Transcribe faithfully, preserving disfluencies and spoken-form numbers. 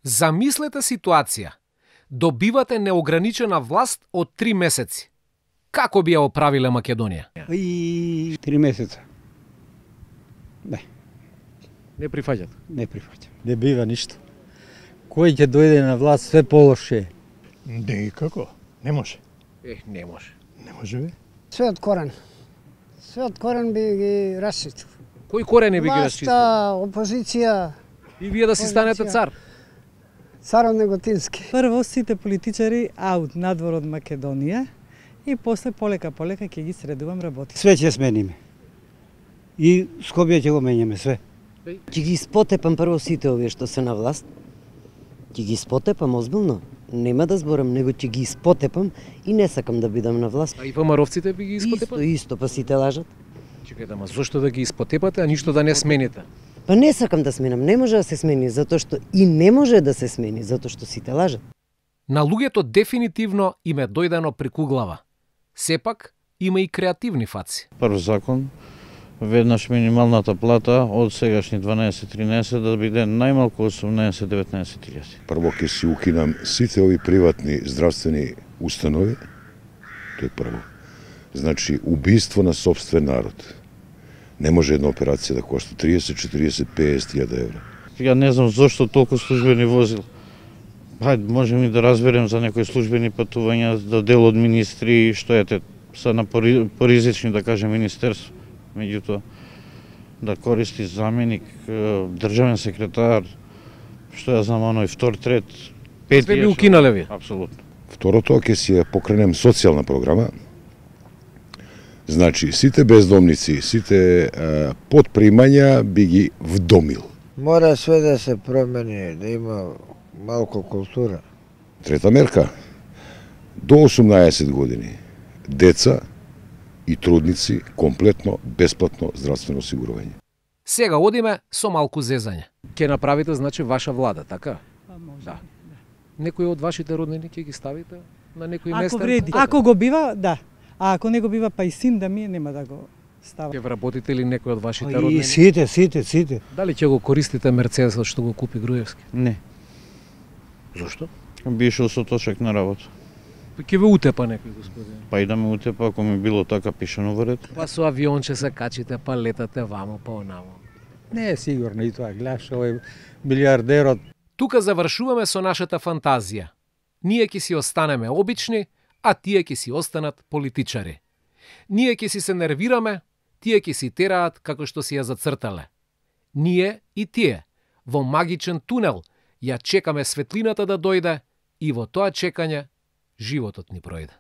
Замислете ситуација. Добивате неограничена власт од три месеци. Како би ја оправиле Македонија? И три месеца. Не. Не прифаќат. Не прифаќам. Не бива ништо. Кој ќе дојде на власт све полоше. Не, како? Не може. Е, не може. Не може бе. Све од корен. Све од корен би ги расчистил. Кои корени би ги расчистил? Власта, опозиција. И вие да си станете цар. Царот Неготински. Прво сите политичари аут надвор од Македонија и после полека полека ќе ги средувам работи. Све ќе смениме. И Скопје ќе го менјаме све. Ќе ги спотепам прво сите овие што се на власт. Ќе ги спотепам озбилно. Нема да зборам, него ќе ги спотепам и не сакам да бидам на власт. А и ВМРО-вците би ги испотепали? Исто, исто, па сите лажат. Чекајте, ама зошто да ги испотепате, а ништо да не смените? Па не сакам да сменам, не може да се смени, затоа што и не може да се смени, затоа што сите лажат. На луѓето дефинитивно им е дојдено преку глава. Сепак, има и креативни фаци. Прв закон, веднаш минималната плата од сегашни дванаесет-тринаесет да биде најмалку осумнаесет-деветнаесет илјади. Прво ќе си укинам сите ови приватни здравствени установи. Тоа е прво. Значи, убиство на сопствен народ. Не може една операција да кошта триесет, четириесет, песет илјади евра. Ја не знам зошто толку службени возил. Хајде, можем и да разберем за некои службени патувања, да дел од министри, што ете, са на поризични, да кажем, министерство. Меѓутоа, да користи заменик, државен секретар, што ја знам, оној втор, трет, пет. Све би укинале ви? Апсолутно. Второто, ќе си ја покренем социјална програма. Значи, сите бездомници, сите а, подпримања би ги вдомил. Мора све да се промени, да има малку култура. Трета мерка, до осумнаесет години, деца и трудници комплетно бесплатно здравствено осигурување. Сега одиме со малку зезање. Ке направите, значи, ваша влада, така? Па може. Да. Некои од вашите роднини ќе ги ставите на некој Ако место? вреди, ако го бива, да. А ако не го бива, па и син да ми е, нема да го става. Ќе вработите ли некој од вашите И роднини? сите, сите, сите. Дали ќе го користите Мерцедесот што го купи Груевски? Не. Зошто? Би ишол со точак на работа. Па ќе ве утепа некој, господин. Па и да ме утепа, ако ми било така пишано во ред. Па со авионче се качите, па летате вамо, па онамо. Не е сигурно и тоа, гледаш овој милиардерот. Тука завршуваме со нашата фантазија. Ние ќе си останеме обични, а тие ќе си останат политичари. Ние ќе си се нервираме, тие ќе си тераат како што си ја зацртале. Ние и тие, во магичен тунел, ја чекаме светлината да дојде и во тоа чекање животот ни пројде.